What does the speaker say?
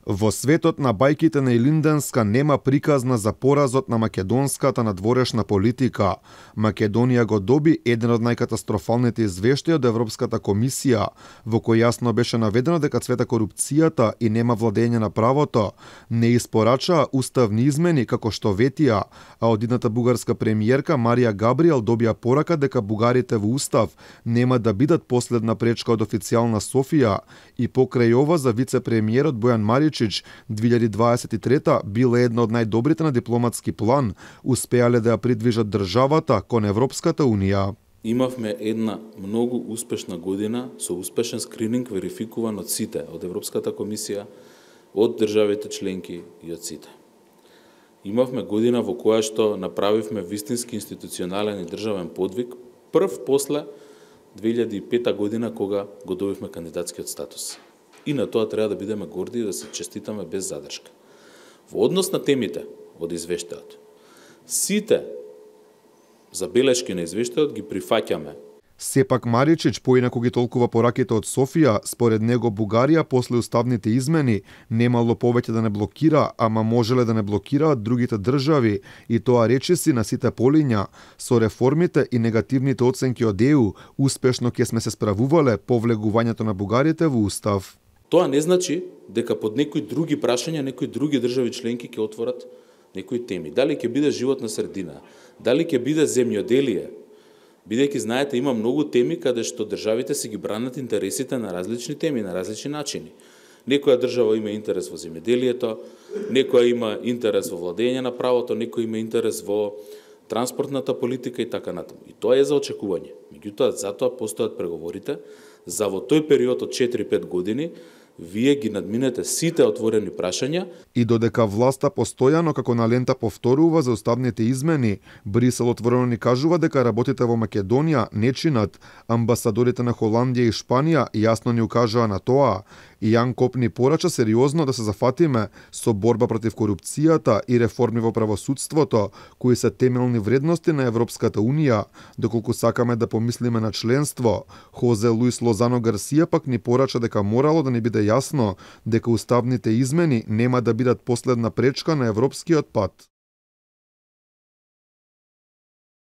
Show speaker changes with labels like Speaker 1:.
Speaker 1: Во светот на бајките на Илинденска нема приказна за поразот на македонската надворешна политика. Македонија го доби еден од најкатастрофалните извештаи од Европската комисија, во кој јасно беше наведено дека цвета корупцијата и нема владење на правото, не испорачаа уставни измени како што ветија, а одидната бугарска премиерка Марија Габриел добија порака дека бугарите во устав нема да бидат последна пречка од официјална Софија и покрај ова за вице-премиерот Бојан Маричич 2023 била една од најдобрите на дипломатски план, успеале да ја придвижат државата кон Европската Унија.
Speaker 2: Имавме една многу успешна година со успешен скрининг верификуван од сите, од Европската комисија, од државите членки и од сите. Имавме година во која што направивме вистински институционален и државен подвиг, прв после 2005 година кога го добивме кандидатскиот статус. И на тоа треба да бидеме горди и да се честитаме без задршка. Во однос на темите од извештајот, сите забелешки на извештајот ги прифаќаме.
Speaker 1: Сепак Маричич поинаку ги толкува пораките од Софија, според него Бугарија после уставните измени немало повеќе да не блокира, ама можеле да не блокираат другите држави, и тоа речиси на сите полиња. Со реформите и негативните оценки од ЕУ, успешно ќе сме се справувале по влегувањето на бугарите во устав.
Speaker 2: Тоа не значи дека под некои други прашања, некои други држави членки ќе отворат некои теми. Дали ќе биде животна средина, дали ќе биде земјоделие, бидејќи знаете има многу теми каде што државите си ги бранат интересите на различни теми, на различни начини. Некоја држава има интерес во земјоделието, некоја има интерес во владење на правото, некој има интерес во транспортната политика и така натаму. И тоа е за очекување. Меѓутоа, затоа постојат преговорите за во тој период од 4-5 години вие ги надминете сите отворени прашања.
Speaker 1: И додека власта постојано како на лента повторува за уставните измени, Брисел отворено ни кажува дека работите во Македонија не чинат. Амбасадорите на Холандија и Шпанија јасно ни укажаа на тоа. И Јан Коп ни порача сериозно да се зафатиме со борба против корупцијата и реформи во правосудството, кои се темелни вредности на Европската Унија, доколку сакаме да помислиме на членство. Хозе Луис Лозано Гарсија пак ни порача дека морало да ни биде јасно дека уставните измени нема да бидат последна пречка на европскиот пат.